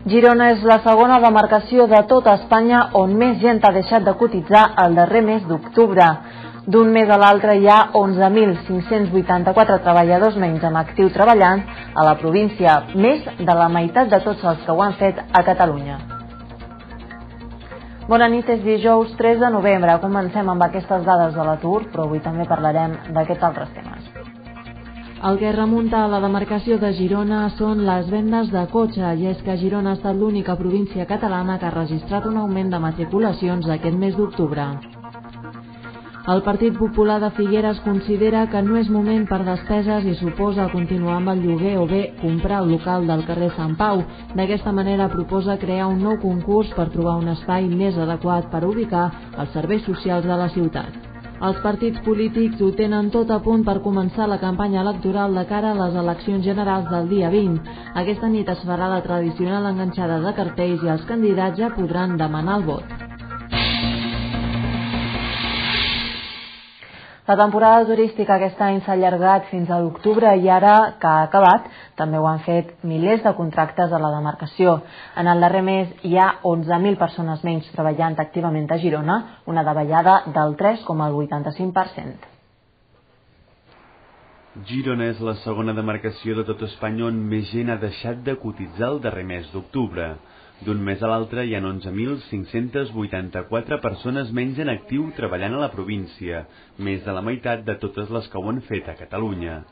Girona és la segona demarcació de tota Espanya on més gent ha deixat de cotitzar el darrer mes d'octubre. D'un mes a l'altre hi ha 11.584 treballadors menys en actiu treballant a la província, més de la meitat de tots els que ho han fet a Catalunya. Bona nit, és dijous 3 de novembre. Comencem amb aquestes dades de l'atur, però avui també parlarem d'aquests altres temes. El que remunta a la demarcació de Girona són les vendes de cotxe, i és que Girona ha estat l'única província catalana que ha registrat un augment de matriculacions aquest mes d'octubre. El Partit Popular de Figueres considera que no és moment per despeses i suposa continuar amb el lloguer o bé comprar el local del carrer Sant Pau. D'aquesta manera proposa crear un nou concurs per trobar un espai més adequat per ubicar els serveis socials de la ciutat. Els partits polítics ho tenen tot a punt per començar la campanya electoral de cara a les eleccions generals del dia 20. Aquesta nit es farà la tradicional enganxada de cartells i els candidats ja podran demanar el vot. La temporada turística aquest any s'ha allargat fins a l'octubre i ara que ha acabat també ho han fet milers de contractes a la demarcació. En el darrer mes hi ha 11.000 persones menys treballant activament a Girona, una davallada del 3,85%. Girona és la segona demarcació de tot Espanya on més gent ha deixat de cotitzar el darrer mes d'octubre. D'un mes a l'altre hi ha 11.584 persones menys en actiu treballant a la província, més de la meitat de totes les que ho han fet a Catalunya.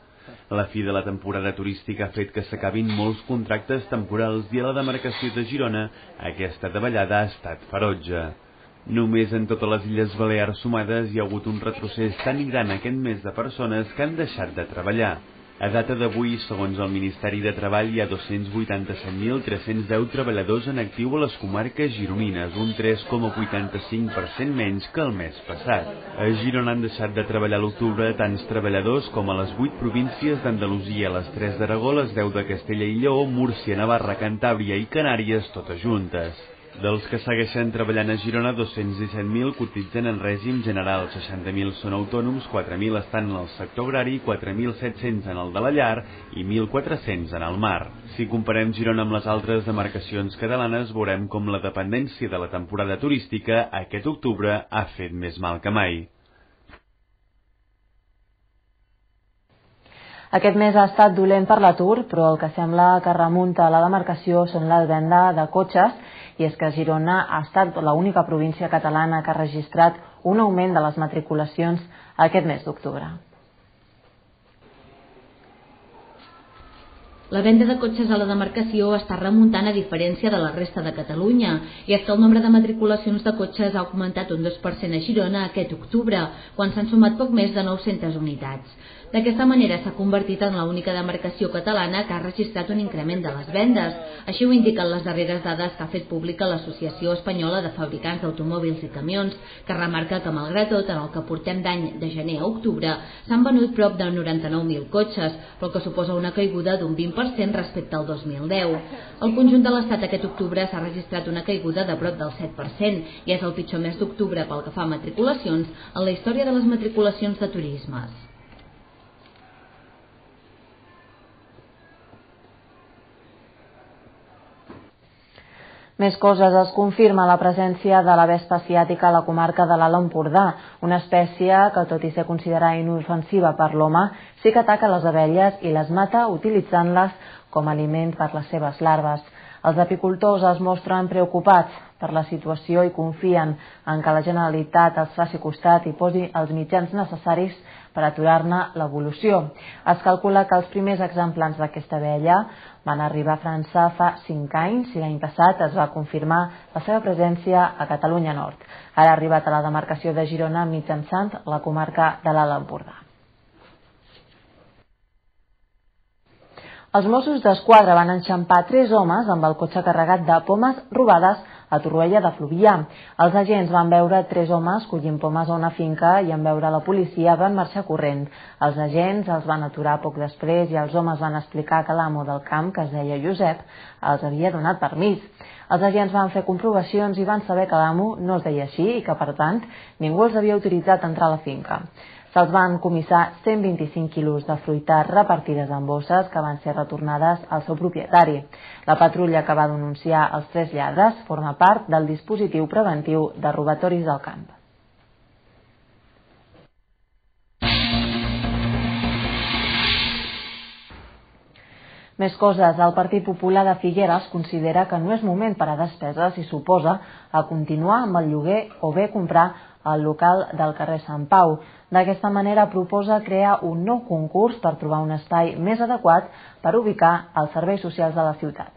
La fi de la temporada turística ha fet que s'acabin molts contractes temporals i a la demarcació de Girona aquesta davallada ha estat ferotge. Només en totes les Illes Balears sumades hi ha hagut un retrocés tan gran aquest mes de persones que han deixat de treballar. A data d'avui, segons el Ministeri de Treball, hi ha 287.310 treballadors en actiu a les comarques gironines, un 3,85% menys que el mes passat. A Girona han deixat de treballar a l'octubre tants treballadors com a les 8 províncies d'Andalusia, les 3 d'Aragó, les 10 de Castella i Lleó, Múrcia, Navarra, Cantàbria i Canàries, totes juntes. Dels que segueixen treballant a Girona, 217.000 cotitzen en règim general, 60.000 són autònoms, 4.000 estan en el sector agrari, 4.700 en el de la llar i 1.400 en el mar. Si comparem Girona amb les altres demarcacions catalanes, veurem com la dependència de la temporada turística aquest octubre ha fet més mal que mai. Aquest mes ha estat dolent per l'atur, però el que sembla que remunta a la demarcació són la venda de cotxes, i és que Girona ha estat l'única província catalana que ha registrat un augment de les matriculacions aquest mes d'octubre. La venda de cotxes a la demarcació està remuntant a diferència de la resta de Catalunya, i és que el nombre de matriculacions de cotxes ha augmentat un 2% a Girona aquest octubre, quan s'han sumat poc més de 900 unitats. D'aquesta manera s'ha convertit en l'única demarcació catalana que ha registrat un increment de les vendes. Així ho indiquen les darreres dades que ha fet pública l'Associació Espanyola de Fabricants d'Automòbils i Camions, que remarca que, malgrat tot, en el que portem d'any de gener a octubre, s'han venut prop de 99.000 cotxes, però que suposa una caiguda d'un 20% respecte al 2010. Al conjunt de l'Estat aquest octubre s'ha registrat una caiguda de prop del 7% i és el pitjor mes d'octubre pel que fa a matriculacions en la història de les matriculacions de turismes. Més coses, es confirma la presència de la vespa asiàtica a la comarca de l'Alt Empordà, una espècie que, tot i ser considerada inofensiva per l'home, sí que ataca les abelles i les mata utilitzant-les com a aliment per les seves larves. Els apicultors es mostren preocupats per la situació i confien en que la Generalitat els faci costat i posi els mitjans necessaris per aturar-ne l'evolució. Es calcula que els primers exemplars d'aquesta abella van arribar a França fa 5 anys i l'any passat es va confirmar la seva presència a Catalunya Nord. Ara ha arribat a la demarcació de Girona mitjançant la comarca de l'Alt Empordà. Els Mossos d'Esquadra van enxampar 3 homes amb el cotxe carregat de pomes robades a Torroella de Fluvià. Els agents van veure 3 homes collint pomes a una finca i en veure la policia van marxar corrent. Els agents els van aturar poc després i els homes van explicar que l'amo del camp, que es deia Josep, els havia donat permís. Els agents van fer comprovacions i van saber que l'amo no es deia així i que, per tant, ningú els havia autoritzat a entrar a la finca. Se'ls van comissar 125 quilos de fruita repartides en bosses que van ser retornades al seu propietari. La patrulla que va denunciar els 3 lladres forma part del dispositiu preventiu de robatoris del camp. Més coses. El Partit Popular de Figueres considera que no és moment per a despeses i s'oposa a continuar amb el lloguer o bé comprar el local del carrer Sant Pau. D'aquesta manera proposa crear un nou concurs per trobar un espai més adequat per ubicar els serveis socials de la ciutat.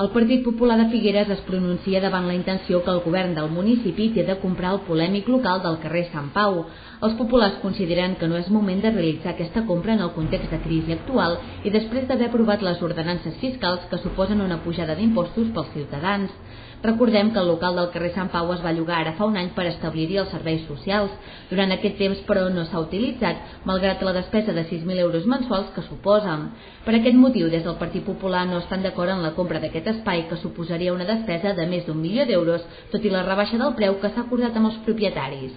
El Partit Popular de Figueres es pronuncia davant la intenció que el govern del municipi té de comprar el polèmic local del carrer Sant Pau. Els populars consideren que no és moment de realitzar aquesta compra en el context de crisi actual i després d'haver aprovat les ordenances fiscals que suposen una pujada d'impostos pels ciutadans. Recordem que el local del carrer Sant Pau es va llogar ara fa un any per establir-hi els serveis socials. Durant aquest temps, però, no s'ha utilitzat, malgrat la despesa de 6.000 euros mensuals que suposa. Per aquest motiu, des del Partit Popular no estan d'acord en la compra d'aquest espai, que suposaria una despesa de més d'1 milió d'euros, tot i la rebaixa del preu que s'ha acordat amb els propietaris.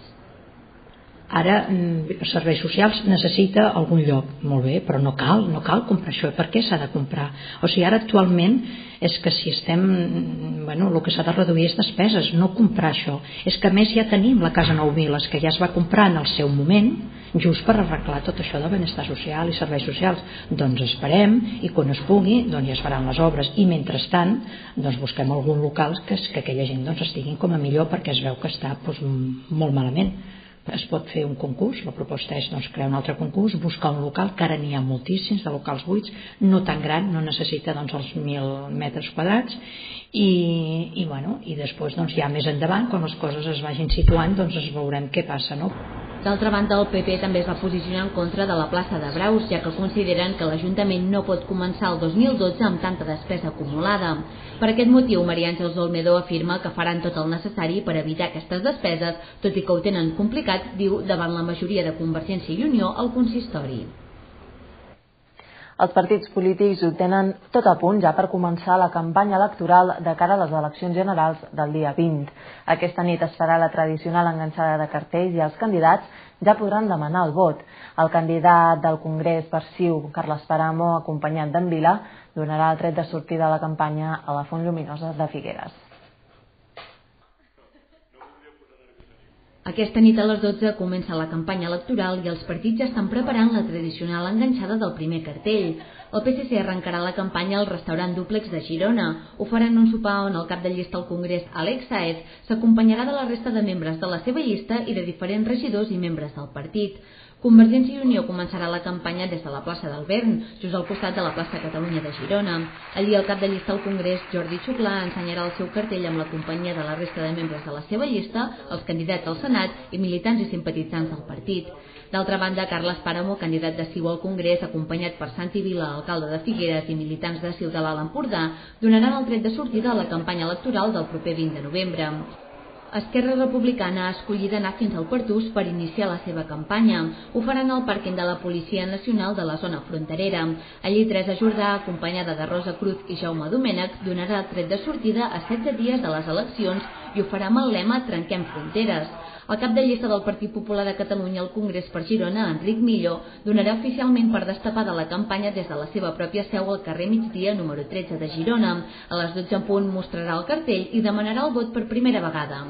Ara, els serveis socials necessita algun lloc, molt bé, però no cal comprar això. Per què s'ha de comprar? O sigui, ara actualment és que si estem, el que s'ha de reduir és despeses, no comprar això. És que a més ja tenim la Casa 9 Viles, que ja es va comprar en el seu moment, just per arreglar tot això de benestar social i serveis socials. Doncs esperem i quan es pugui ja es faran les obres i mentrestant busquem algun local que aquella gent estiguin com a millor, perquè es veu que està molt malament. Es pot fer un concurs, la proposta és crear un altre concurs, buscar un local, que ara n'hi ha moltíssims de locals buits, no tan gran, no necessita els 1.000 metres quadrats i després ja més endavant, quan les coses es vagin situant, es veurem què passa, no? D'altra banda, el PP també es va posicionar en contra de la plaça de Braus, ja que consideren que l'Ajuntament no pot començar el 2012 amb tanta despesa acumulada. Per aquest motiu, Maria Àngels Olmedo afirma que faran tot el necessari per evitar aquestes despeses, tot i que ho tenen complicat, diu, davant la majoria de Convergència i Unió al consistori. Els partits polítics ho tenen tot a punt ja per començar la campanya electoral de cara a les eleccions generals del dia 20. Aquesta nit es farà la tradicional enganxada de cartells i els candidats ja podran demanar el vot. El candidat del Congrés per CiU, Carles Paramo, acompanyat d'en Vila, donarà el tret de sortida a la campanya a la Font Lluminosa de Figueres. Aquesta nit a les 12 comença la campanya electoral i els partits ja estan preparant la tradicional enganxada del primer cartell. El PSC arrencarà la campanya al restaurant Dúplex de Girona. Ho faran un sopar on el cap de llista al Congrés, Àlex Sáez, s'acompanyarà de la resta de membres de la seva llista i de diferents regidors i membres del partit. Convergència i Unió començarà la campanya des de la plaça del Vern, just al costat de la plaça Catalunya de Girona. Allí el cap de llista al Congrés, Jordi Xuclà, ensenyarà el seu cartell amb la companyia de la resta de membres de la seva llista, els candidats al Senat i militants i simpatitzants del partit. D'altra banda, Carles Paramo, candidat de CiU al Congrés, acompanyat per Santi Vila, alcalde de Figueres i militants de CiU de l'Alt Empordà, donaran el tret de sortida a la campanya electoral del proper 20 de novembre. Esquerra Republicana ha escollit anar fins al Pertús per iniciar la seva campanya. Ho faran al pàrquing de la Policia Nacional de la zona fronterera. Allí Teresa Jordà, acompanyada de Rosa Cruz i Jaume Domènech, donarà el tret de sortida a 16 dies de les eleccions i ho farà amb el lema Trenquem fronteres. El cap de llista del Partit Popular de Catalunya al Congrés per Girona, Enric Millo, donarà oficialment per destapada la campanya des de la seva pròpia seu al carrer Migdia número 13 de Girona. A les 12 en punt mostrarà el cartell i demanarà el vot per primera vegada.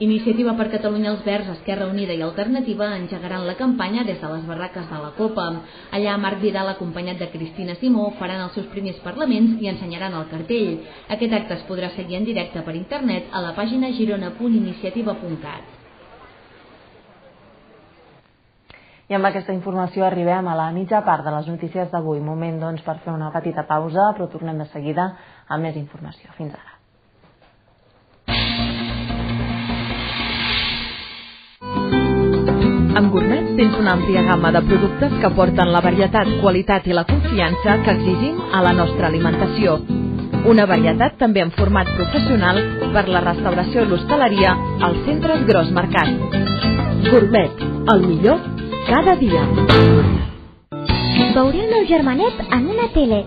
Iniciativa per Catalunya els Verds, Esquerra Unida i Alternativa engegaran la campanya des de les barraques de la Copa. Allà Marc Vidal, acompanyat de Cristina Simó, faran els seus primers parlaments i ensenyaran el cartell. Aquest acte es podrà seguir en directe per internet a la pàgina girona.iniciativa.cat. I amb aquesta informació arribem a la mitja part de les notícies d'avui. Moment, per fer una petita pausa, però tornem de seguida amb més informació. Fins ara. Amb Gourmet tens una àmplia gamma de productes que porten la varietat, qualitat i la confiança que exigim a la nostra alimentació. Una varietat també en format professional per la restauració i l'hostaleria als centres Gros Mercat. Gourmet, el millor cada dia. Veuré el meu germanet en una tele.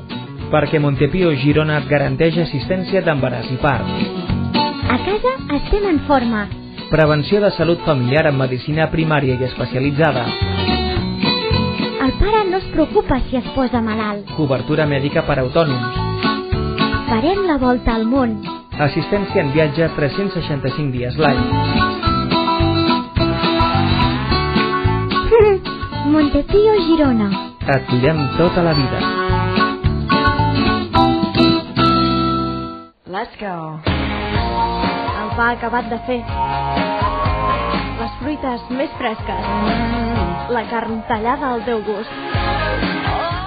Perquè Montepío Girona et garanteix assistència d'embaràs i part. A casa estem en forma. Prevenció de salut familiar amb medicina primària i especialitzada. El pare no es preocupa si es posa malalt. Cobertura mèdica per a autònoms. Farem la volta al món. Assistència en viatge 365 dies l'any. Montepío, Girona. Et cuidem tota la vida. Let's go. El pa acabat de fer. Les fruites més fresques. La carn tallada al teu gust.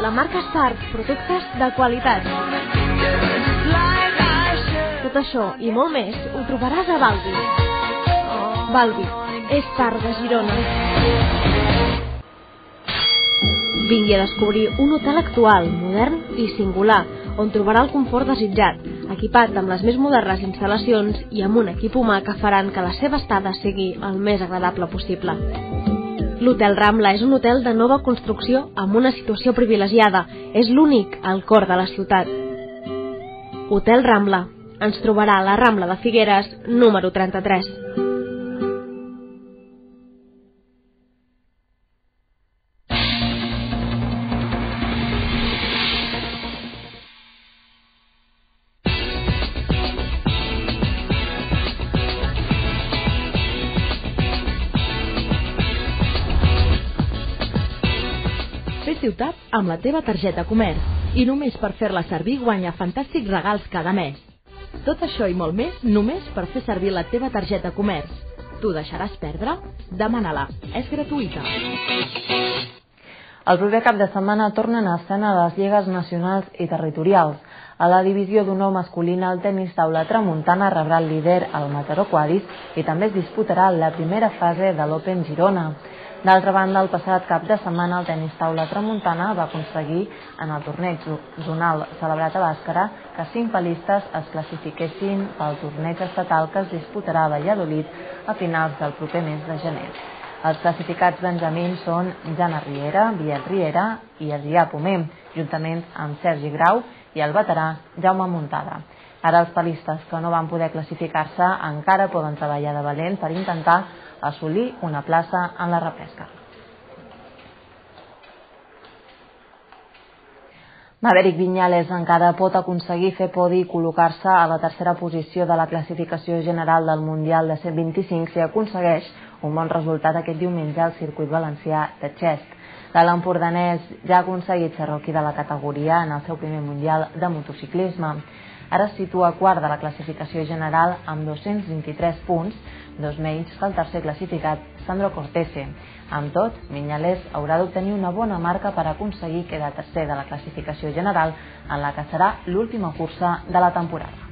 La marca Spark, productes de qualitat. Tot això i molt més ho trobaràs a Balbi. Balbi és part de Girona. Vingui a descobrir un hotel actual, modern i singular, on trobarà el confort desitjat, equipat amb les més modernes instal·lacions i amb un equip humà que faran que la seva estada sigui el més agradable possible. L'Hotel Rambla és un hotel de nova construcció amb una situació privilegiada. És l'únic al cor de la ciutat. Hotel Rambla. Ens trobarà a la Rambla de Figueres, número 33. Ciutat amb la teva targeta Comerç i només per fer-la servir guanya fantàstics regals cada mes. Tot això i molt més només per fer servir la teva targeta Comerç. T'ho deixaràs perdre? Demana-la. És gratuïta. El proper cap de setmana tornen a escena les lligues nacionals i territorials. A la divisió d'honor masculina, el tenis taula tramuntana rebrà el líder, el Mataró Quadis, i també es disputarà la primera fase de l'Open Girona. D'altra banda, el passat cap de setmana el tenis taula tramuntana va aconseguir en el torneig zonal celebrat a Bàscara que 5 palistes es classifiquessin pel torneig estatal que es disputarà a Valladolid a finals del proper mes de gener. Els classificats benjamins són Jana Riera, Biel Riera i Adrià Pomer, juntament amb Sergi Grau i el veterà Jaume Muntada. Ara els palistes que no van poder classificar-se encara poden treballar de valent per intentar assolir una plaça en la repesca. Maverick Viñales encara pot aconseguir fer podi i col·locar-se a la tercera posició de la classificació general del Mundial de 125 si aconsegueix un bon resultat aquest diumenge al circuit valencià de Xest. L'empordanès ja ha aconseguit ser rookie de la categoria en el seu primer Mundial de motociclisme. Ara es situa quart de la classificació general amb 223 punts, 2 menys que el tercer classificat, Sandro Cortese. Amb tot, Viñales haurà d'obtenir una bona marca per aconseguir quedar tercer de la classificació general en la que serà l'última cursa de la temporada.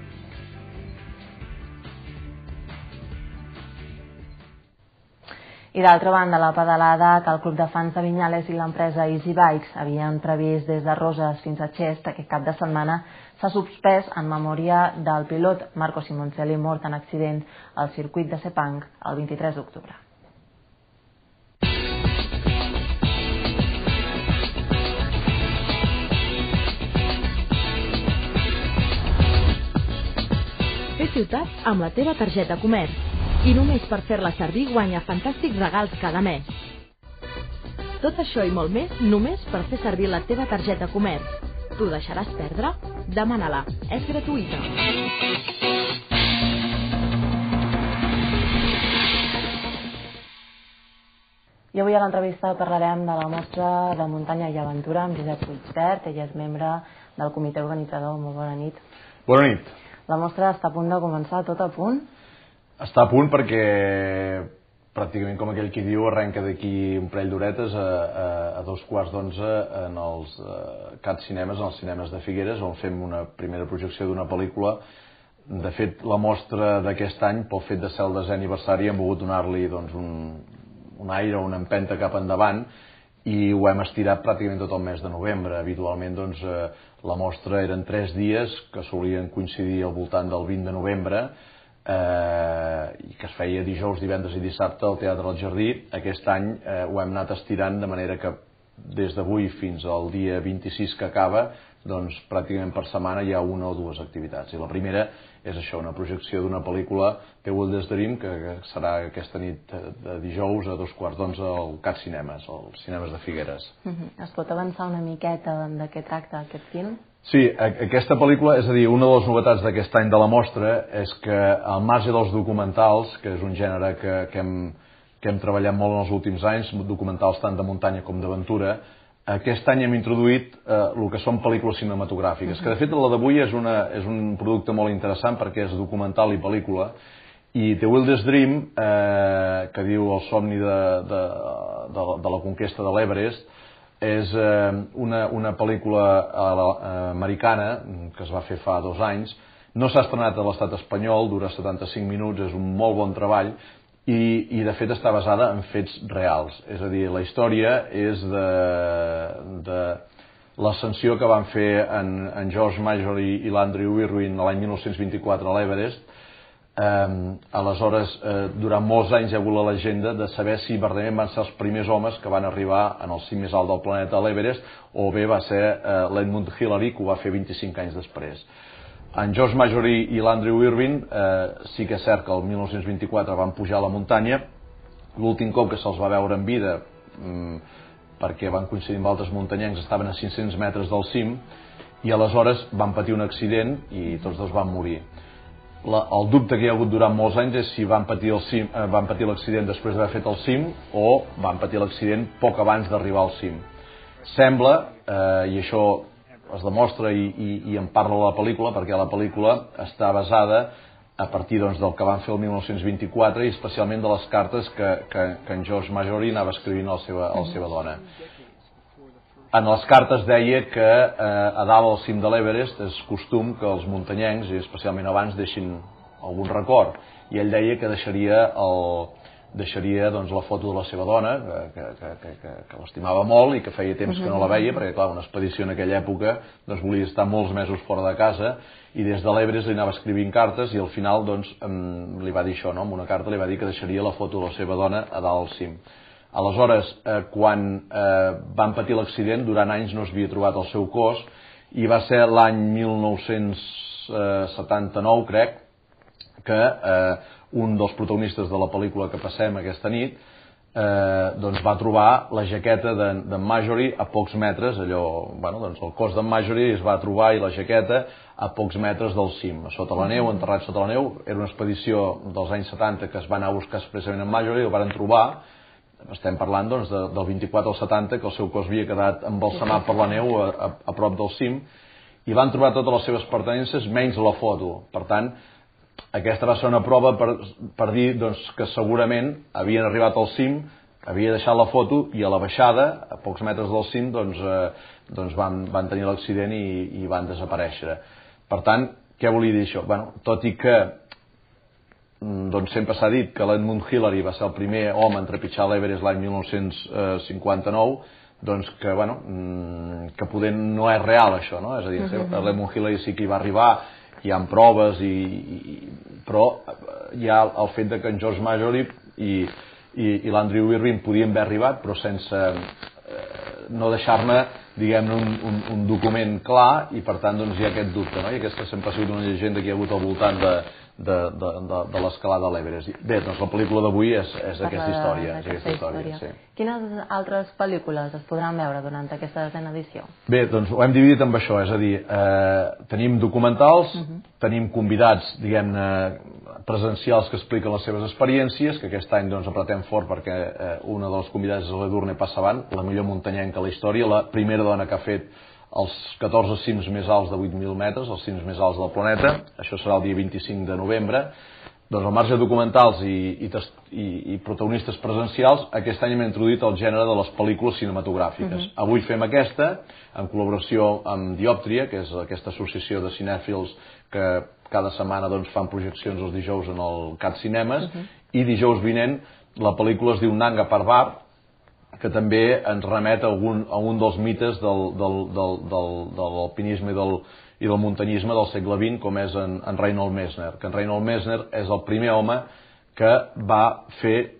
I d'altra banda, la pedalada que el club de fans de Viñales i l'empresa Easy Bikes havien previst des de Roses fins a Xest aquest cap de setmana s'ha suspès en memòria del pilot Marco Simoncelli mort en accident al circuit de Sepang el 23 d'octubre. Fer ciutat amb la teva targeta Comerç. I només per fer-la servir guanya fantàstics regals cada mes. Tot això i molt més només per fer servir la teva targeta Comerç. T'ho deixaràs perdre? Demana-la. És gratuïta. I avui a l'entrevista parlarem de la mostra de muntanya i aventura amb Josep Puigvert. Ell és membre del comitè organitzador. Molt bona nit. Bona nit. La mostra està a punt de començar, tot a punt? Està a punt perquè pràcticament, com aquell qui diu, arrenca d'aquí un parell d'horetes a 11:15 en els CAT Cinemes, en els cinemes de Figueres, on fem una primera projecció d'una pel·lícula. De fet, la mostra d'aquest any, pel fet de ser el 10è aniversari, hem volgut donar-li un aire, una empenta cap endavant, i ho hem estirat pràcticament tot el mes de novembre. Habitualment la mostra eren 3 dies que solien coincidir al voltant del 20 de novembre, i que es feia dijous, divendres i dissabte al Teatre del Jardí. Aquest any ho hem anat estirant de manera que des d'avui fins al dia 26 que acaba, doncs pràcticament per setmana hi ha una o dues activitats. I la primera és això, una projecció d'una pel·lícula, The Wildest Dream, que serà aquesta nit de dijous a 11:15 al CAT Cinemes, als cinemes de Figueres. Es pot avançar una miqueta de què tracta aquest film? Sí, aquesta pel·lícula, és a dir, una de les novetats d'aquest any de la mostra és que al marge dels documentals, que és un gènere que hem treballat molt en els últims anys, documentals tant de muntanya com d'aventura, aquest any hem introduït el que són pel·lícules cinematogràfiques, que de fet la d'avui és un producte molt interessant perquè és documental i pel·lícula, i The Wildest Dream, que diu el somni de la conquesta de l'Everest, és una pel·lícula americana que es va fer fa 2 anys, no s'ha estrenat a l'estat espanyol, dura 75 minuts, és un molt bon treball, i de fet està basada en fets reals, és a dir, la història és de l'ascensió que van fer en George Marjorie i l'Andrew Irwin l'any 1924 a l'Everest. Aleshores, durant molts anys hi ha hagut la llegenda de saber si verdaderament van ser els primers homes que van arribar en el cim més alt del planeta, a l'Everest, o bé va ser l'Edmund Hillary, que ho va fer 25 anys després. En George Marjorie i l'Andrew Irwin sí que és cert que el 1924 van pujar a la muntanya. L'últim cop que se'ls va veure en vida, perquè van coincidir amb altres muntanyencs, estaven a 500 metres del cim, i aleshores van patir un accident i tots dos van morir. El dubte que hi ha hagut durant molts anys és si van patir l'accident després d'haver fet el cim o van patir l'accident poc abans d'arribar al cim. Sembla, i això es demostra i en parla la pel·lícula, perquè la pel·lícula està basada a partir del que van fer el 1924 i especialment de les cartes que en George Marjorie anava escrivint a la seva dona. En les cartes deia que a dalt al cim de l'Everest és costum que els muntanyencs, i especialment abans, deixin algun record, i ell deia que deixaria la foto de la seva dona, que l'estimava molt i que feia temps que no la veia, perquè clar, una expedició en aquella època volia estar molts mesos fora de casa, i des de l'Everest li anava escrivint cartes, i al final li va dir això, amb una carta li va dir que deixaria la foto de la seva dona a dalt al cim. Aleshores, quan van patir l'accident, durant anys no s'havia trobat el seu cos, i va ser l'any 1979, crec, que un dels protagonistes de la pel·lícula que passem aquesta nit va trobar la jaqueta d'en Marjorie a pocs metres, el cos d'en Marjorie es va trobar i la jaqueta a pocs metres del cim, sota la neu, enterrat sota la neu. Era una expedició dels anys 70 que es va anar a buscar expressament en Marjorie, el van trobar. Estem parlant del 24 al 70, que el seu cos havia quedat embalsamat per la neu a prop del cim, i van trobar totes les seves pertinences menys la foto. Per tant, aquesta va ser una prova per dir que segurament havien arribat al cim, havia deixat la foto, i a la baixada, a pocs metres del cim, van tenir l'accident i van desaparèixer. Per tant, què volia dir això? Tot i que sempre s'ha dit que l'Edmund Hillary va ser el primer home en trepitjar l'Everest l'any 1959, que poder no és real això, no? És a dir, l'Edmund Hillary sí que hi va arribar, hi ha proves, però hi ha el fet que en George Marjorie i l'Andrew Irwin podien haver arribat, però sense no deixar-ne, diguem-ne, un document clar, i per tant hi ha aquest dubte, no? I aquesta sempre ha sigut una llegenda que hi ha hagut al voltant de l'escalada a l'Everest. Bé, doncs la pel·lícula d'avui és aquesta història. Sí. Quines altres pel·lícules es podran veure durant aquesta 10a edició? Bé, doncs ho hem dividit amb això, és a dir, tenim documentals, tenim convidats, diguem-ne, presencials que expliquen les seves experiències, que aquest any apretem fort perquè una dels convidats és l'Edurne Passavant, la millor muntanyenca de la història, la primera dona que ha fet els 14 cims més alts de 8.000 metres, els cims més alts del planeta. Això serà el dia 25 de novembre. Doncs al marge de documentals i protagonistes presencials, aquest any hem introduït el gènere de les pel·lícules cinematogràfiques. Avui fem aquesta, en col·laboració amb Diòptria, que és aquesta associació de cinèfils que cada setmana fan projeccions els dijous en el CAT Cinemes, i dijous vinent la pel·lícula es diu Nanga Parbat, que també ens remet a un dels mites de l'alpinisme i del muntanyisme del segle XX, com és en Reinhold Messner, que en Reinhold Messner és el primer home que va fer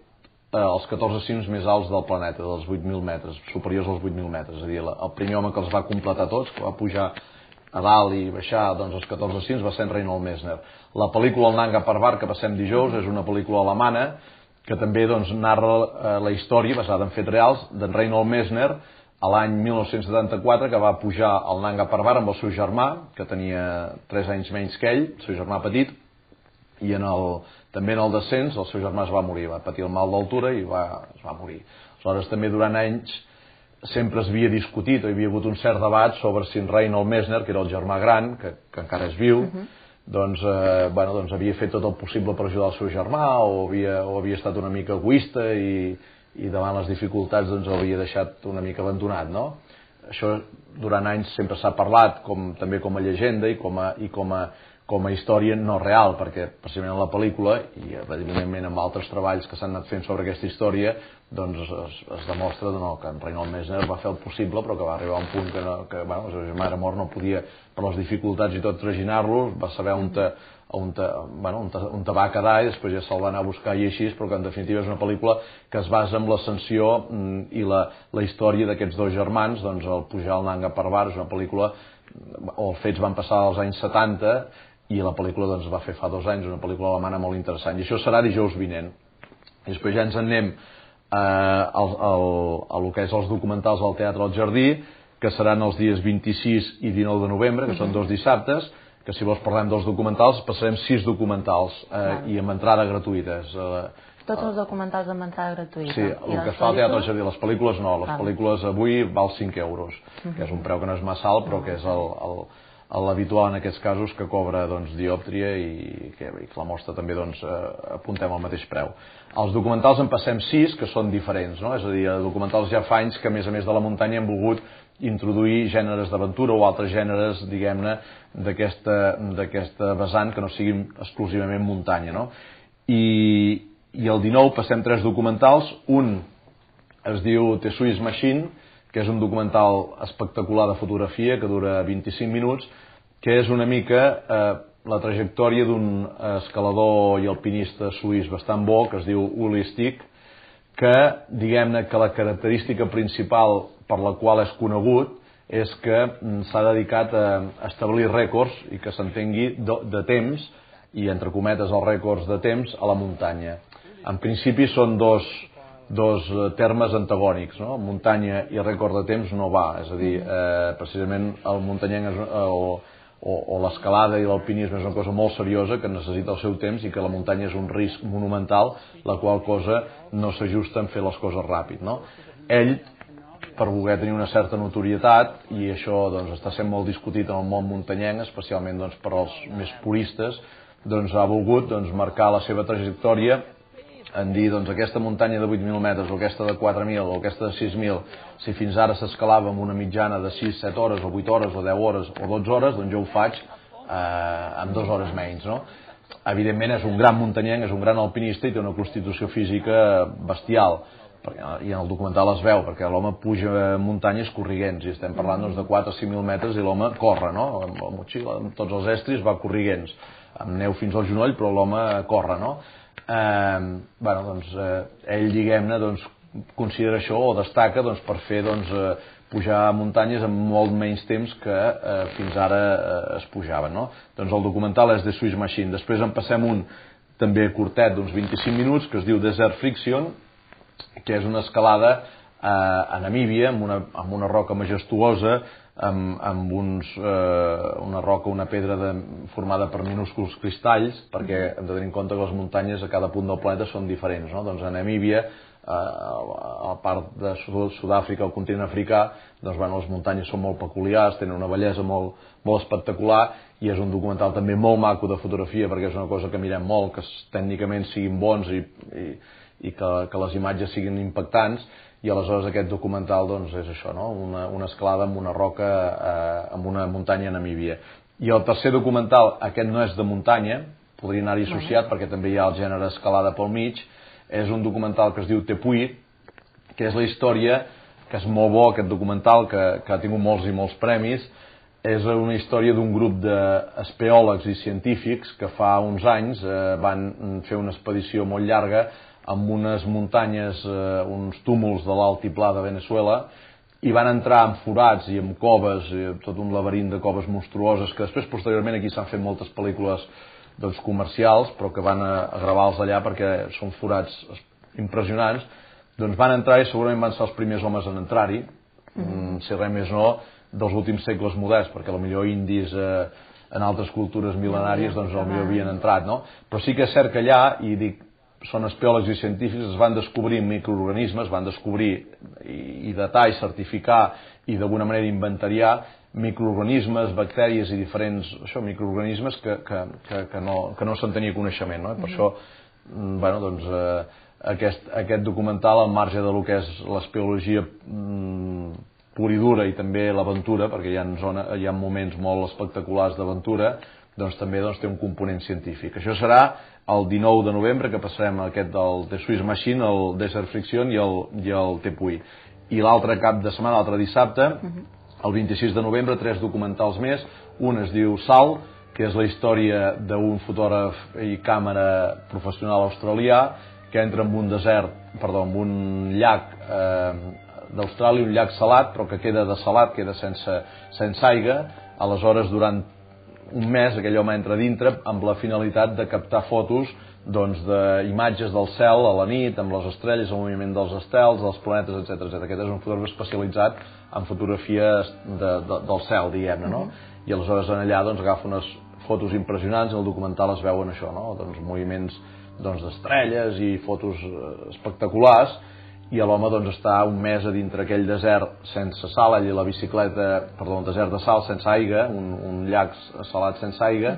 els 14 cims més alts del planeta, dels 8.000 metres, superiors als 8.000 metres. És a dir, el primer home que els va completar tots, que va pujar a dalt i baixar els 14 cims, va ser en Reinhold Messner. La pel·lícula El Nanga Parbat, que passem dijous, és una pel·lícula alemana que també narra la història, basada en fets reals, d'en Reinhold Messner, a l'any 1974, que va pujar al Nanga Parbat amb el seu germà, que tenia 3 anys menys que ell, el seu germà petit, i també en el descens el seu germà es va morir, va patir el mal d'altura i es va morir. Aleshores també durant anys sempre es havia discutit o hi havia hagut un cert debat sobre si en Reinhold Messner, que era el germà gran, que encara és viu, doncs havia fet tot el possible per ajudar el seu germà o havia estat una mica egoista i davant les dificultats l'havia deixat una mica abandonat, no? Això durant anys sempre s'ha parlat també com a llegenda i com a història no real, perquè precisament en la pel·lícula i evidentment amb altres treballs que s'han anat fent sobre aquesta història doncs es demostra que en Reinhold Messner va fer el possible, però que va arribar a un punt que el seu germà era mort, no podia per les dificultats i tot traginar-lo, va saber on va quedar i després ja se'l va anar a buscar i així, però que en definitiva és una pel·lícula que es basa en l'ascensió i la història d'aquests dos germans, doncs el pujar al Nanga Parbat és una pel·lícula, els fets van passar als anys 70 i la pel·lícula doncs va fer fa 2 anys, una pel·lícula alemana molt interessant, i això serà dijous vinent. I després ja ens en anem a lo que és els documentals al Teatre al Jardí, que seran els dies 26 i 19 de novembre, que són 2 dissabtes, que si vols parlem dels documentals, passarem 6 documentals i amb entrada gratuïta. Tots els documentals amb entrada gratuïta. Sí, el que fa al Teatre al Jardí, les pel·lícules no, les pel·lícules avui val 5 euros, que és un preu que no és massa alt, però que és l'habitual en aquests casos, que cobra diòptria i que la mostra també apuntem al mateix preu. Els documentals en passem 6 que són diferents, no? És a dir, documentals ja fa anys que a més de la muntanya hem volgut introduir gèneres d'aventura o altres gèneres, diguem-ne, d'aquesta vessant que no siguin exclusivament muntanya, no? I el 19 passem 3 documentals, un es diu The Swiss Machine, que és un documental espectacular de fotografia que dura 25 minuts, que és una mica la trajectòria d'un escalador i alpinista suís bastant bo, que es diu Uli Stick, que diguem-ne que la característica principal per la qual és conegut és que s'ha dedicat a establir rècords i que s'entengui de temps, i entre cometes els rècords de temps a la muntanya. En principi són dos termes antagònics, no? Muntanya i rècord de temps no va, és a dir, precisament el muntanyenc o l'escalada i l'alpinisme és una cosa molt seriosa que necessita el seu temps i que la muntanya és un risc monumental, la qual cosa no s'ajusta en fer les coses ràpid, no? Ell, per voler tenir una certa notorietat, i això està sent molt discutit en el món muntanyenc, especialment per als més puristes, ha volgut marcar la seva trajectòria en dir, aquesta muntanya de 8.000 metres, o aquesta de 4.000, o aquesta de 6.000, si fins ara s'escalava amb una mitjana de 6, 7 hores, o 8 hores, o 10 hores, o 12 hores, doncs jo ho faig en 2 hores menys, no? Evidentment és un gran muntanyenc, és un gran alpinista i té una constitució física bestial, i en el documental es veu, perquè l'home puja muntanyes corriguents, i estem parlant de 4 o 5.000 metres i l'home corre, no? Amb la motxilla, amb tots els estris va corriguents, amb neu fins al genoll, però l'home corre, no? Ell, diguem-ne, considera això o destaca per fer pujar muntanyes amb molt menys temps que fins ara es pujaven, no? Doncs el documental és The Swiss Machine. Després en passem un també curtet d'uns 25 minuts que es diu Desert Friction, que és una escalada a Namíbia amb una roca majestuosa, amb una roca, una pedra formada per minúsculs cristalls, perquè hem de tenir en compte que les muntanyes a cada punt del planeta són diferents, no? Doncs a Namíbia, a la part de Sud-àfrica, al continent africà, les muntanyes són molt peculiars, tenen una bellesa molt espectacular, i és un documental també molt maco de fotografia, perquè és una cosa que mirem molt, que tècnicament siguin bons i que les imatges siguin impactants, i aleshores aquest documental és això, no? Una escalada amb una roca, amb una muntanya a Namíbia. I el tercer documental, aquest no és de muntanya, podria anar-hi associat perquè també hi ha el gènere escalada pel mig, és un documental que es diu Tepuy, que és la història, que és molt bo aquest documental, que ha tingut molts i molts premis, és una història d'un grup d'espeòlegs i científics que fa uns anys van fer una expedició molt llarga amb unes muntanyes, uns túmuls de l'altiplà de Venezuela, i van entrar en forats i en coves, tot un laberint de coves monstruoses, que després, posteriorment, aquí s'han fet moltes pel·lícules comercials, però que van a gravar-los allà perquè són forats impressionants. Doncs van entrar i segurament van ser els primers homes en entrar-hi, si res més no, dels últims segles moderns, perquè potser indis en altres cultures mil·lenàries doncs potser havien entrat, no? Però sí que és cert que allà, i dic, són espèologs i científics, es van descobrir microorganismes, van descobrir i datar i certificar i d'alguna manera inventariar microorganismes, bactèries i diferents microorganismes que no se'n tenia coneixement, no? Per això, bueno, doncs, aquest documental, al marge del que és l'espeleologia pura i dura i també l'aventura, perquè hi ha moments molt espectaculars d'aventura, doncs també té un component científic. Això serà el 19 de novembre, que passarem aquest del The Swiss Machine, el Desert Friction i el Tepuy. I l'altre cap de setmana, l'altre dissabte, el 26 de novembre, 3 documentals més. Un es diu Sal, que és la història d'un fotògraf i càmera professional australià que entra en un en un llac d'Austràlia, un llac salat, però que queda desalat, queda sense aigua. Aleshores, durant un mes, aquell home entra dintre amb la finalitat de captar fotos d'imatges del cel a la nit, amb les estrelles, el moviment dels estels, dels planetes, etc. Aquest és un fotògraf especialitzat en fotografies del cel, diguem-ne, no? I aleshores allà agafa unes fotos impressionants, i al documental es veuen això, no? Moviments d'estrelles i fotos espectaculars, i l'home està un mes a dintre aquell desert sense sal, ell i la bicicleta, perdó, un desert de sal sense aigua, un llac salat sense aigua,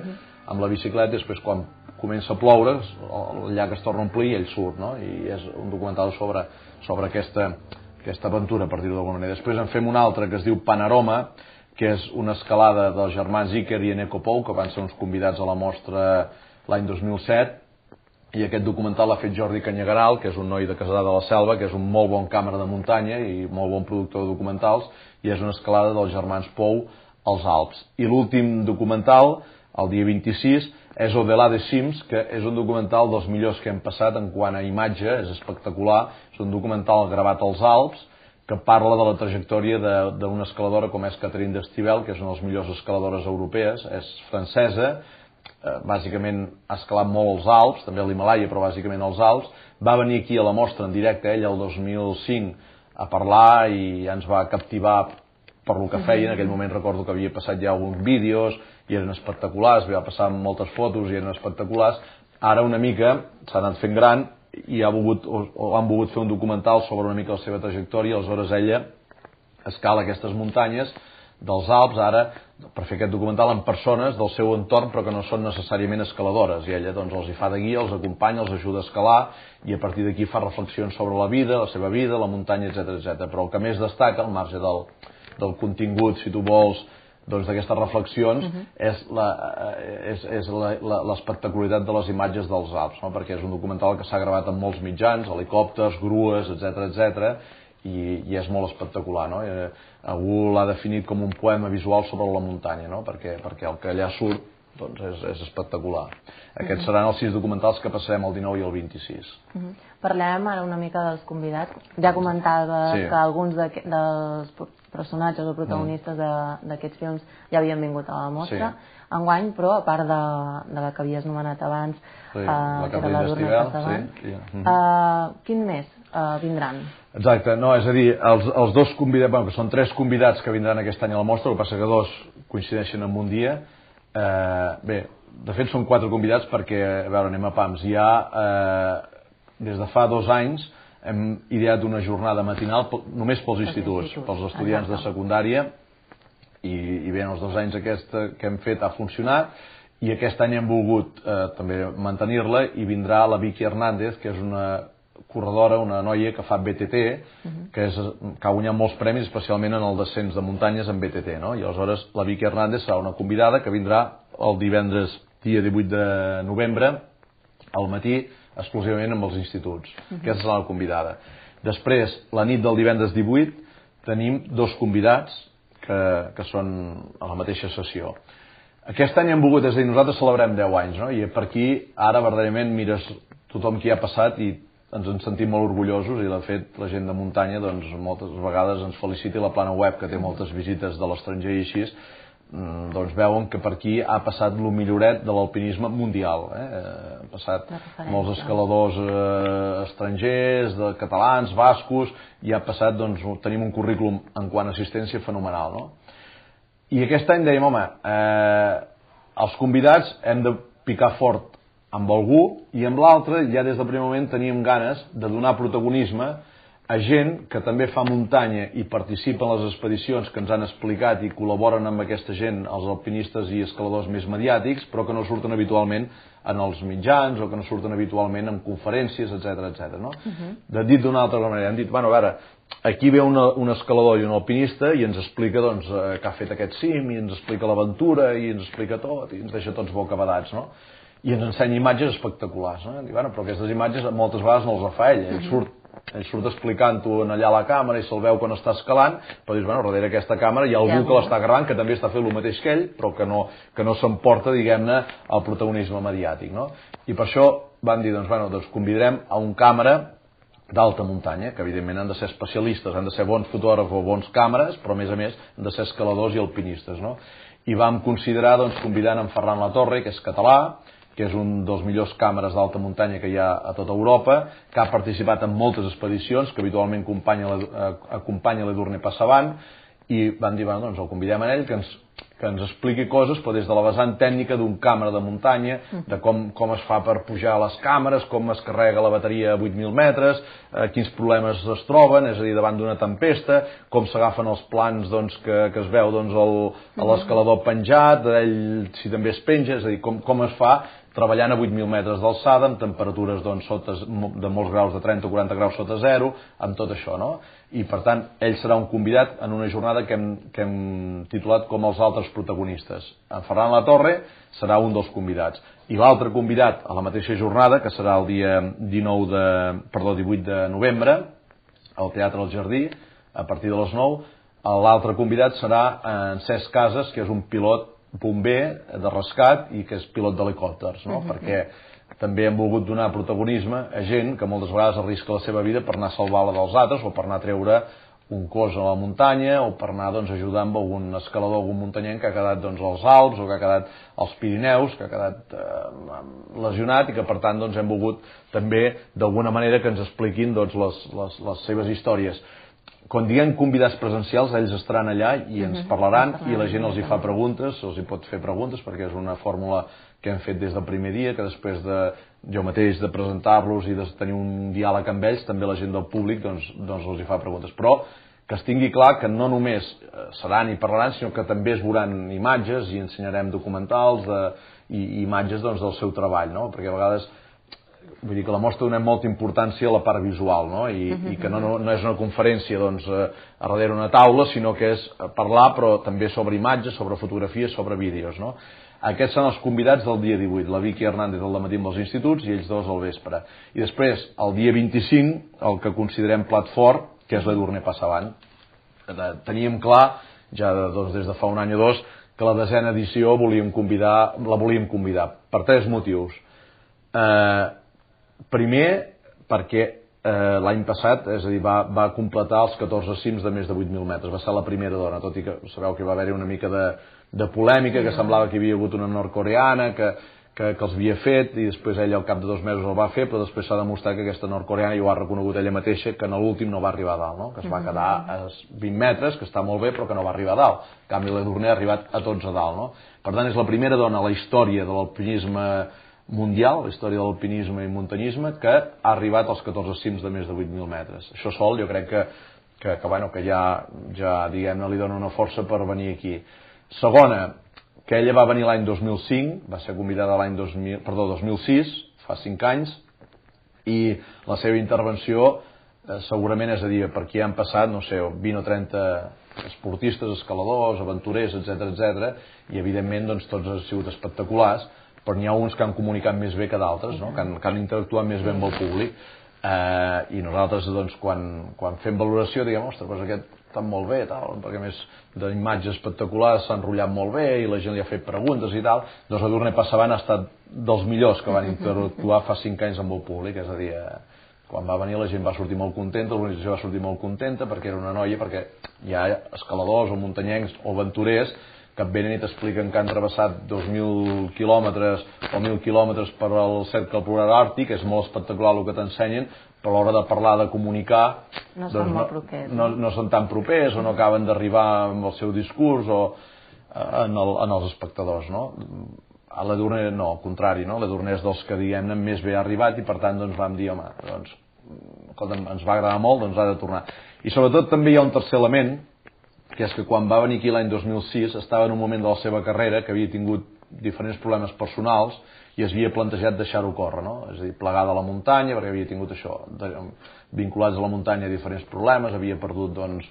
amb la bicicleta, i després quan comença a ploure el llac es torna a omplir i ell surt, no? I és un documental sobre aquesta aventura, per dir-ho d'alguna manera. Després en fem un altre que es diu Panorama, que és una escalada dels germans Iker i Eneko Pou, que van ser uns convidats a la mostra l'any 2007, i aquest documental l'ha fet Jordi Canyegaral, que és un noi de Casadà de la Selva, que és un molt bon càmera de muntanya i molt bon productor de documentals, i és una escalada dels germans Pou als Alps. I l'últim documental, el dia 26, és Au-delà des cims, que és un documental dels millors que hem passat en quant a imatge, és espectacular, és un documental gravat als Alps, que parla de la trajectòria d'una escaladora com és Catherine Destivelle, que és una de les millors escaladores europees, és francesa, bàsicament ha escalat molt als Alps, també a l'Himàlaia, però bàsicament als Alps. Va venir aquí a la mostra en directe, ell, el 2005, a parlar i ja ens va captivar per el que feia. En aquell moment recordo que havia passat ja alguns vídeos i eren espectaculars, va passar moltes fotos i eren espectaculars. Ara una mica s'ha anat fent gran i han volgut fer un documental sobre una mica la seva trajectòria. Aleshores ella escala aquestes muntanyes dels Alps ara per fer aquest documental amb persones del seu entorn però que no són necessàriament escaladores, i ella els hi fa de guia, els acompanya, els ajuda a escalar, i a partir d'aquí fa reflexions sobre la vida, la seva vida, la muntanya, etc. Però el que més destaca, al marge del contingut, si tu vols, d'aquestes reflexions, és l'espectacularitat de les imatges dels Alps, no? Perquè és un documental que s'ha gravat amb molts mitjans, helicòpters, grues, etc. I és molt espectacular, no? Algú l'ha definit com un poema visual sobre la muntanya, no? Perquè el que allà surt és espectacular. Aquests seran els 6 documentals que passarem el 19 i el 26. Parlem ara una mica dels convidats. Ja comentava que alguns dels personatges o protagonistes d'aquests films ja havien vingut a la mostra. Enguany, però, a part de la que havies anomenat abans, que era la d'Urna Casadant, quin més vindran? Exacte, no, és a dir, els dos convidats, que són 3 convidats que vindran aquest any a la mostra, el que passa que 2 coincideixen en un dia. Bé, de fet són 4 convidats perquè, a veure, anem a pams. Des de fa 2 anys hem ideat una jornada matinal només pels instituts, pels estudiants de secundària, i bé, en els 2 anys aquesta que hem fet ha funcionat, i aquest any hem volgut també mantenir-la, i vindrà la Vicky Hernández, que és una corredora, una noia que fa BTT, que ha guanyat molts premis, especialment en el descens de muntanyes en BTT, no? I aleshores la Vicky Hernández serà una convidada que vindrà el divendres dia 18 de novembre al matí, exclusivament amb els instituts. Aquesta serà la convidada. Després, la nit del divendres 18, tenim 2 convidats que són a la mateixa sessió. Aquest any hem volgut, és a dir, nosaltres celebrem 10 anys, no? I per aquí, ara, verdaderament, mires tothom qui ha passat i ens en sentim molt orgullosos i de fet la gent de muntanya doncs moltes vegades ens felicita i la plana web que té moltes visites de l'estranger i així doncs veuen que per aquí ha passat el milloret de l'alpinisme mundial. Han passat molts escaladors estrangers, catalans, bascos, i ha passat, doncs, tenim un currículum en quant a assistència fenomenal, no? I aquest any dèiem, home, els convidats hem de picar fort amb algú i amb l'altre, ja des del primer moment teníem ganes de donar protagonisme a gent que també fa muntanya i participa en les expedicions que ens han explicat i col·laboren amb aquesta gent, els alpinistes i escaladors més mediàtics, però que no surten habitualment en els mitjans o que no surten habitualment en conferències, etc. No? Dit d'una altra manera, hem dit, bueno, a veure, aquí ve un escalador i un alpinista i ens explica doncs, que ha fet aquest cim i ens explica l'aventura i ens explica tot i ens deixa tots bocabadats, no? I ens ensenya imatges espectaculars, no? I, bueno, però aquestes imatges moltes vegades no les fa ell surt explicant-ho allà a la càmera i se'l veu quan està escalant, però dius, bueno, darrere aquesta càmera hi ha algú que l'està gravant, que també està fent el mateix que ell, però que no s'emporta, diguem-ne, el protagonisme mediàtic, no? I per això van dir, doncs convidarem a un càmera d'alta muntanya, que evidentment han de ser especialistes, han de ser bons fotògrafs o bons càmeres, però a més han de ser escaladors i alpinistes, no? I vam considerar, doncs, convidant en Ferran Latorre, que és català, que és un dels millors càmeres d'alta muntanya que hi ha a tota Europa, que ha participat en moltes expedicions, que habitualment acompanya l'Edurne Passavant, i van dir, bueno, doncs el convidem a ell, que ens expliqui coses, però des de la vessant tècnica d'un càmera de muntanya, de com es fa per pujar a les càmeres, com es carrega la bateria a 8.000 metres, quins problemes es troben, és a dir, davant d'una tempesta, com s'agafen els plans doncs, que es veu doncs, l'escalador penjat, ell si també es penja, és a dir, com es fa treballant a 8.000 metres d'alçada, amb temperatures doncs, de molts graus, de 30 o 40 graus sota zero, amb tot això, no? I per tant, ell serà un convidat en una jornada que hem titulat com els altres protagonistes. En Ferran Latorre serà un dels convidats. I l'altre convidat a la mateixa jornada, que serà el dia 18 de novembre, al Teatre del Jardí, a partir de les 9, l'altre convidat serà en Cesc Casas, que és un pilot bomber de rescat i que és pilot d'helicòpters, no? Perquè també hem volgut donar protagonisme a gent que moltes vegades arrisca la seva vida per anar a salvar la dels altres o per anar a treure un cos a la muntanya o per anar doncs, a ajudar amb algun escalador, algun muntanyenc que ha quedat doncs, als Alps o que ha quedat als Pirineus, que ha quedat lesionat i que per tant doncs, hem volgut també d'alguna manera que ens expliquin doncs, les seves històries. Quan diguem convidats presencials, ells estaran allà i ens parlaran i la gent els hi fa preguntes, els hi pot fer preguntes perquè és una fórmula que hem fet des del primer dia, que després de jo mateix de presentar-los i de tenir un diàleg amb ells, també la gent del públic doncs els hi fa preguntes. Però que es tingui clar que no només seran i parlaran, sinó que també es veuran imatges i ensenyarem documentals i imatges doncs, del seu treball, no? Perquè a vegades vull dir que la mostra donem molta importància a la part visual, no? I que no és una conferència doncs, a darrere una taula, sinó que és parlar però també sobre imatges, sobre fotografies, sobre vídeos, no? Aquests són els convidats del dia 18, la Vicky Hernández al matí amb els instituts i ells dos al vespre. I després, el dia 25, el que considerem plat fort, que és l'Edurne Passavant. Teníem clar, ja doncs, des de fa un any o dos, que la 10a edició la volíem convidar per 3 motius. Primer, perquè l'any passat, és a dir, va completar els 14 cims de més de 8.000 metres, va ser la primera dona, tot i que sabeu que va haver-hi una mica de polèmica, que semblava que hi havia hagut una nord-coreana que els havia fet i després ella al cap de 2 mesos el va fer, però després s'ha demostrat que aquesta nord-coreana ja ho ha reconegut ella mateixa, que en l'últim no va arribar a dalt, no? Que es va quedar a 20 metres, que està molt bé, però que no va arribar a dalt. En canvi, l'Edurne ha arribat a tots a dalt, no? Per tant, és la primera dona a la història de l'alpinisme mundial, la història de l'alpinisme i muntanyisme, que ha arribat als 14 cims de més de 8.000 metres. Això sol jo crec que ja diguem-ne, li dona una força per venir aquí. Segona, que ella va venir l'any 2005, va ser convidada l'any 2006, fa 5 anys, i la seva intervenció segurament, és a dir, per aquí han passat, no sé, 20 o 30 esportistes, escaladors, aventurers, etc, i evidentment doncs, tots han sigut espectaculars, però n'hi ha uns que han comunicat més bé que d'altres, no? que han interactuat més bé amb el públic, i nosaltres doncs, quan fem valoració diguem, ostres, doncs aquest està molt bé, tal, perquè a més d'imatges espectaculars s'ha enrotllat molt bé i la gent li ha fet preguntes i tal, doncs l'Edurne Passavant ha estat dels millors que van interactuar fa 5 anys amb el públic, és a dir, Quan va venir la gent va sortir molt contenta, l'organització va sortir molt contenta perquè era una noia, perquè hi ha escaladors o muntanyencs o aventurers que et venen i t'expliquen que han travessat 2.000 quilòmetres o 1.000 quilòmetres per al cercle polar àrtic, és molt espectacular el que t'ensenyen, però a l'hora de parlar, de comunicar, no són molt propers, no són tan propers o no acaben d'arribar amb el seu discurs o en els espectadors, no? A l'Edurne no, al contrari, no? L'Edurne és dels que, diguem-ne, més bé ha arribat i per tant doncs vam dir, home, doncs, escolta'm, ens va agradar molt, doncs ha de tornar. I sobretot també hi ha un tercer element, que és que quan va venir aquí l'any 2006 estava en un moment de la seva carrera que havia tingut diferents problemes personals i es havia plantejat deixar-ho córrer, no? És a dir, plegar de la muntanya, perquè havia tingut això, vinculats a la muntanya diferents problemes, havia perdut, doncs,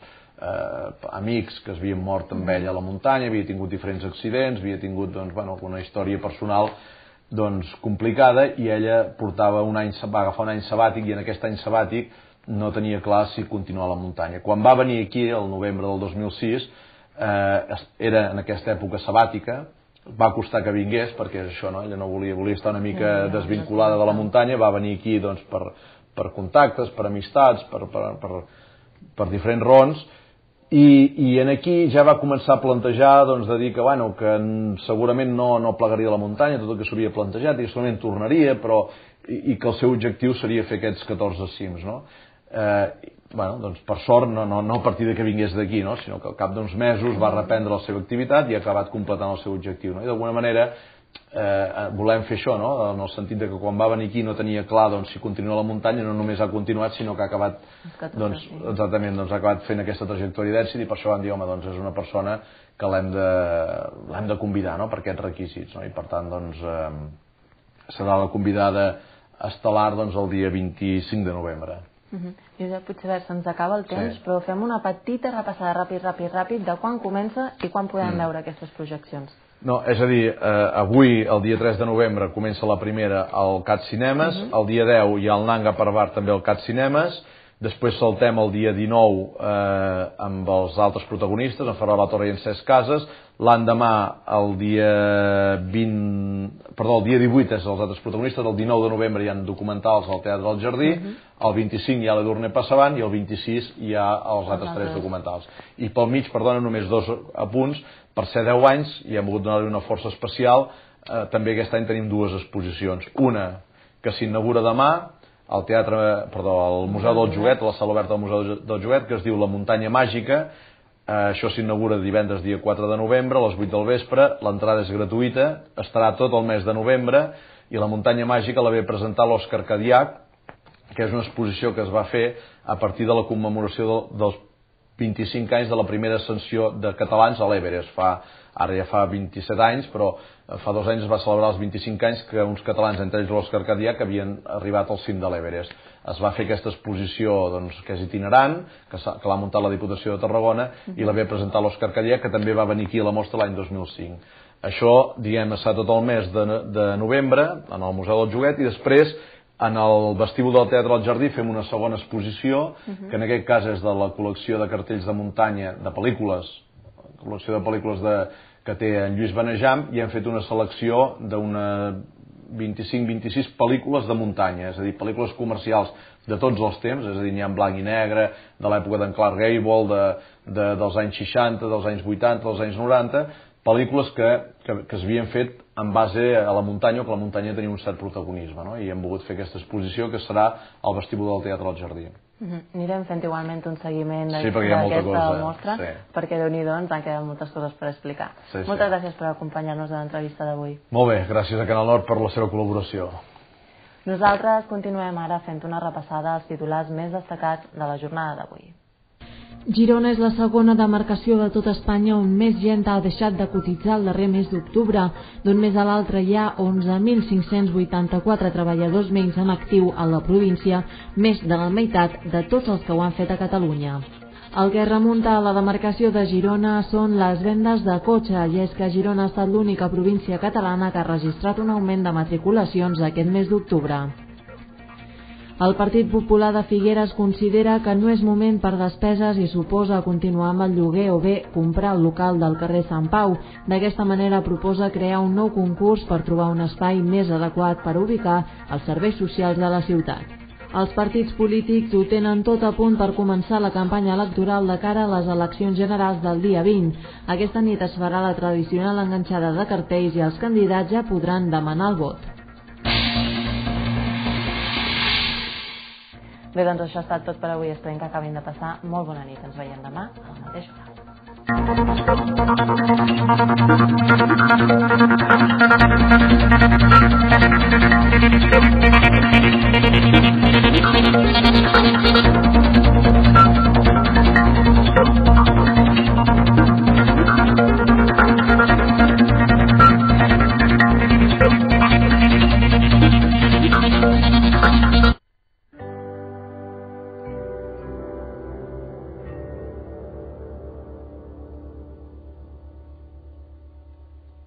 amics que es havien mort amb ell a la muntanya, havia tingut diferents accidents, havia tingut, doncs, bueno, una història personal doncs, complicada, i ella portava va agafar un any sabàtic, i en aquest any sabàtic no tenia clar si continuar a la muntanya. Quan va venir aquí, el novembre del 2006, era en aquesta època sabàtica, va costar que vingués, perquè és això, no? Ella no volia estar una mica desvinculada de la muntanya, va venir aquí doncs, per contactes, per amistats, per diferents raons, i en aquí ja va començar a plantejar doncs, de dir que, bueno, que segurament no plegaria a la muntanya, tot el que s'havia plantejat, i segurament tornaria, però i que el seu objectiu seria fer aquests 14 cims, no? Bueno, doncs per sort no a partir de que vingués d'aquí, no? Sinó que al cap d'uns mesos va reprendre la seva activitat i ha acabat completant el seu objectiu, no? I d'alguna manera volem fer això, no? En el sentit de que quan va venir aquí no tenia clar doncs, si continua a la muntanya, no només ha continuat sinó que ha acabat doncs, exactament, doncs, ha acabat fent aquesta trajectòria d'èxit, i per això vam dir, home, doncs és una persona que l'hem de convidar, no? Per aquests requisits, no? I per tant doncs, serà la convidada estel·lar doncs, el dia 25 de novembre. Josep Puigverd, se'ns acaba el temps, però fem una petita repassada ràpid de quan comença i quan podem veure aquestes projeccions. No, és a dir, avui, el dia 3 de novembre, comença la primera al CAT Cinemes, el dia 10 hi ha el Nanga Parbat també al CAT Cinemes, després saltem el dia 19 amb els altres protagonistes, en Ferran La Torre i en Cesc Casas, l'endemà el dia 18 és els altres protagonistes, el 19 de novembre hi ha documentals al Teatre del Jardí, el 25 hi ha l'Edurne Passavant i el 26 hi ha els altres 3 documentals. I pel mig, perdona, només 2 apunts, per ser 10 anys i hem volgut donar-li una força especial, també aquest any tenim 2 exposicions. Una que s'inaugura demà al Museu del Joguet, a la sala oberta del Museu del Joguet, que es diu La Muntanya Màgica. Això s'inaugura divendres dia 4 de novembre a les 8 del vespre, l'entrada és gratuïta, estarà tot el mes de novembre, i La Muntanya Màgica la ve presentar l'Òscar Cadiach, que és una exposició que es va fer a partir de la commemoració dels 25 anys de la primera ascensió de catalans a l'Everest. Ara ja fa 27 anys, però fa 2 anys es va celebrar els 25 anys que uns catalans, entre ells l'Òscar Cadiach, havien arribat al cim de l'Everest. Es va fer aquesta exposició doncs, que és itinerant, que l'ha muntat la Diputació de Tarragona, i la ve presentar l'Òscar Cadiach, que també va venir aquí a la mostra l'any 2005. Això, diguem, està tot el mes de novembre en el Museu del Joguet, i després en el vestíbul del Teatre del Jardí fem una segona exposició, que en aquest cas és de la col·lecció de cartells de muntanya, de pel·lícules, la col·lecció de pel·lícules que té en Lluís Benejam, i hem fet una selecció d'una 25-26 pel·lícules de muntanya, és a dir, pel·lícules comercials de tots els temps, és a dir, n'hi ha en blanc i negre, de l'època d'en Clark Gable, dels anys 60, dels anys 80, dels anys 90, pel·lícules que s'havien fet en base a la muntanya, o que la muntanya tenia un cert protagonisme, no? I hem volgut fer aquesta exposició que serà al vestíbul del Teatre del Jardí. Anirem fent igualment un seguiment d'aquesta mostra, perquè Déu-n'hi-do ens han quedat moltes coses per explicar. Moltes gràcies per acompanyar-nos a l'entrevista d'avui. Molt bé, gràcies a Canal Nord per la seva col·laboració. Nosaltres continuem ara fent una repassada als titulars més destacats de la jornada d'avui. Girona és la segona demarcació de tot Espanya on més gent ha deixat de cotitzar el darrer mes d'octubre. D'un mes a l'altre hi ha 11.584 treballadors menys en actiu a la província, més de la meitat de tots els que ho han fet a Catalunya. El que remunta a la demarcació de Girona són les vendes de cotxe, i és que Girona ha estat l'única província catalana que ha registrat un augment de matriculacions aquest mes d'octubre. El Partit Popular de Figueres considera que no és moment per despeses i s'oposa a continuar amb el lloguer o bé comprar el local del carrer Sant Pau. D'aquesta manera proposa crear un nou concurs per trobar un espai més adequat per ubicar els serveis socials de la ciutat. Els partits polítics ho tenen tot a punt per començar la campanya electoral de cara a les eleccions generals del dia 20. Aquesta nit es farà la tradicional enganxada de cartells i els candidats ja podran demanar el vot. Bé, doncs això ha estat tot per avui. Esperem que acabin de passar molt bona nit. Ens veiem demà a la mateixa hora.